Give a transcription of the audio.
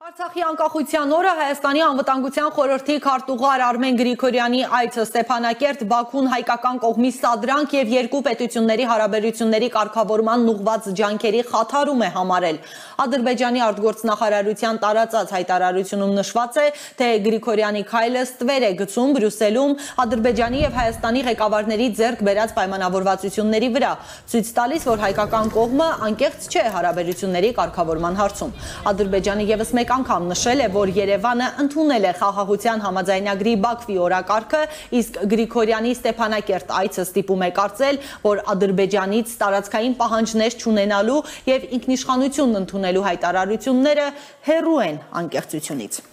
Արցախի անկախության օրը Հայաստանի անվտանգության խորհրդի քարտուղար Արմեն Գրիգորյանի այցը Ստեփանակերտ Բաքուն հայկական կողմի սադրանք եւ երկու պետությունների հարաբերությունների կարգավորման ուղղված ջանքերի խաթարում է համարել։ Ադրբեջանի արտգործնախարարության տարածած հայտարարությունում նշված է, թե Գրիգորյանի քայլը ստվեր է գցում Բրյուսելում Ադրբեջանի եւ Հայաստանի ղեկավարների ձեռք բերած պայմանավորվածությունների վրա, ցույց տալիս, որ հայկական կողմը անկեղծ չէ հարաբերությունների կարգավորման հարցում։ Ադրբեջանը եւս մեկ անգամ նշել է, որ Երևանը ընդունել է խաղաղության համաձայնագրի Բաքվի օրակարգը, իսկ Գրիգորյանի Ստեփանակերտ այցը ստիպում է կարծել, որ Ադրբեջանից տարածքային պահանջներ չունենալու եւ ինքնիշխանություն ընդունելու հայտարարությունները հեռու են անկեղծությունից։